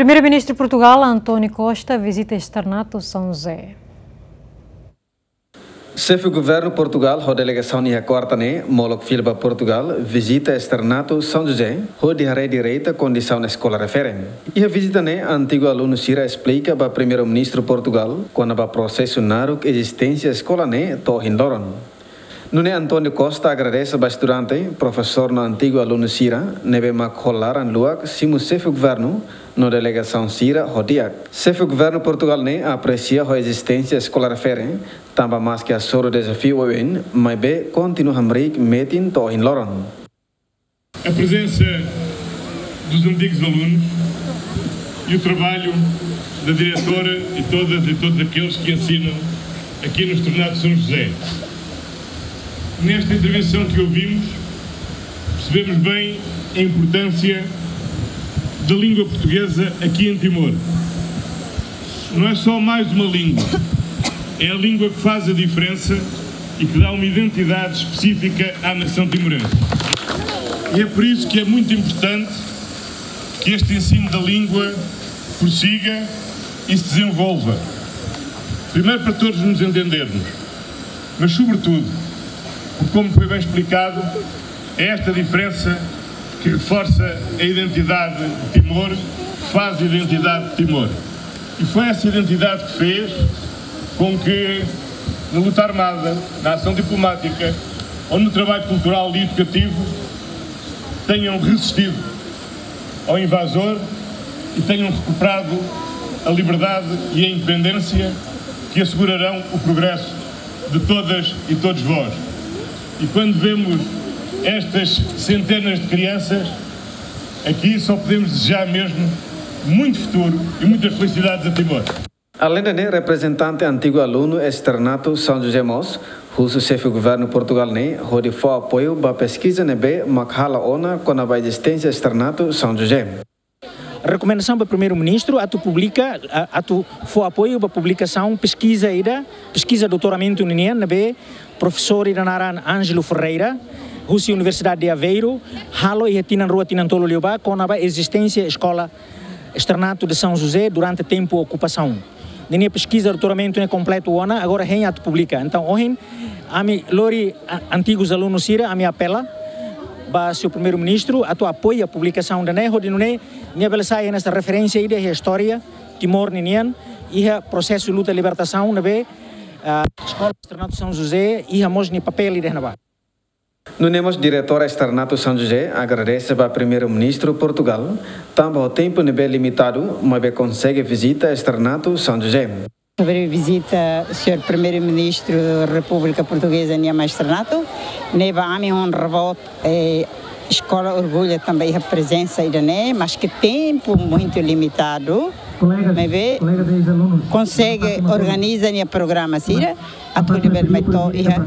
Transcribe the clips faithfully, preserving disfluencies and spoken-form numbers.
Primeiru-Ministru Portugál, António Costa, vizita Externato São José. Xefe Governu Portugál ho delegasaun iha kuarta ne'e molok fila ba Portugál, vizita Externato São José, hodi haree direta kondisaun eskola refere. Iha vizita ne'e, antigu alunu sira esplika ba Primeiru-Ministru Portugál kona-ba prosesu naruk ezisténsia eskola ne'e to'o ohin loron. Nune'e António Costa agradese ba estudante, profesór no antigu alunu sira ne'ebé mak hola laran luak simu Xefe Governu no delegasaun sira ho di'ak. Xefe Governu Portugál ne'e apresia ho ezisténsia eskola refere, tanba maski hasoru dezafiu oioin, maibé kontinua hamriik metin to'o ohin loron. A presença dos antigos alunos e o trabalho da diretora e todas e todos aqueles que ensinam aqui no Externato São José. Nesta intervenção que ouvimos, percebemos bem a importância da língua portuguesa aqui em Timor. Não é só mais uma língua, é a língua que faz a diferença e que dá uma identidade específica à nação timorense. E é por isso que é muito importante que este ensino da língua prossiga e se desenvolva. Primeiro, para todos nos entendermos, mas, sobretudo, porque, como foi bem explicado, é esta diferença que reforça a identidade de Timor, que faz a identidade de Timor. E foi essa identidade que fez com que, na luta armada, na ação diplomática ou no trabalho cultural e educativo, tenham resistido ao invasor e tenham recuperado a liberdade e a independência que assegurarão o progresso de todas e todos vós. E quando vemos estas centenas de crianças aqui, só podemos desejar mesmo muito futuro e muitas felicidades a Timor. Aleinde ne'e, reprezentante antigu alunu Externato São José mós husu Xefe Governu Portugál ne'e hodi fó apoiu ba peskiza ne'ebé mak halo ona kona-ba ezisténsia Externato São José. Rekomendasaun ba Primeiru-Ministru atu publika, a-, atu fó apoiu ba publikasaun peskiza ida, peskiza doutoramentu ninian ne'ebé profesór ida naran Ângelo Ferreira, husi Universidade de Aveiro, halo iha tinan rua, tinan tolu liubá, kona-ba ezisténsia eskola Externato de São José durante tempu okupasaun. Ninia peskiza doutoramentu ne'e kompletu ona, agora hein atu publika. Entaun, ohin, ami lori a-, antigus alunus sira, ami apela ba señór Primeiru-Ministru atu apoia publikasaun ida-ne'e, hodi nune'e nia bele sai hanesan referénsia ida iha istória Timor ninian, iha prosesu luta libertasaun ne'ebé, ah, Eskola Externato São José iha mós nia papél ida iha ne'ebá. Nune'e mós diretór Externato São José agradese ba Primeiru-Ministru Portugál, tanba ho tempu ne'ebé limitadu, maibé konsege vizita Externato São José. Sobre vizita señór Primeiru-Ministru Repúblika Portugeza nia Externato, ne'ebá ami honra boot, eh, eskola orgullu tanba iha prezensa ida-ne'e, maski tempu muitu limitadu, maibé konsege organiza nia programa sira, atu hodi bele mai to'o iha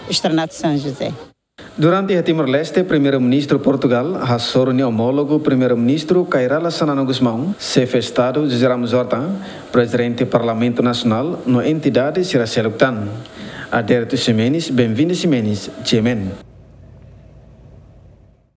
Externato São José. Durante iha Timor-Leste, Primeiru-Ministru Portugál hasoru nia omólogu Primeiru-Ministru Kay Rala Xanana Gusmão, Xefe Estadu José Ramos Horta, Prezidente Parlamentu Nasionál no entidade sira seluk tan. Adérito Ximenes, Benvinda Ximenes, G M N.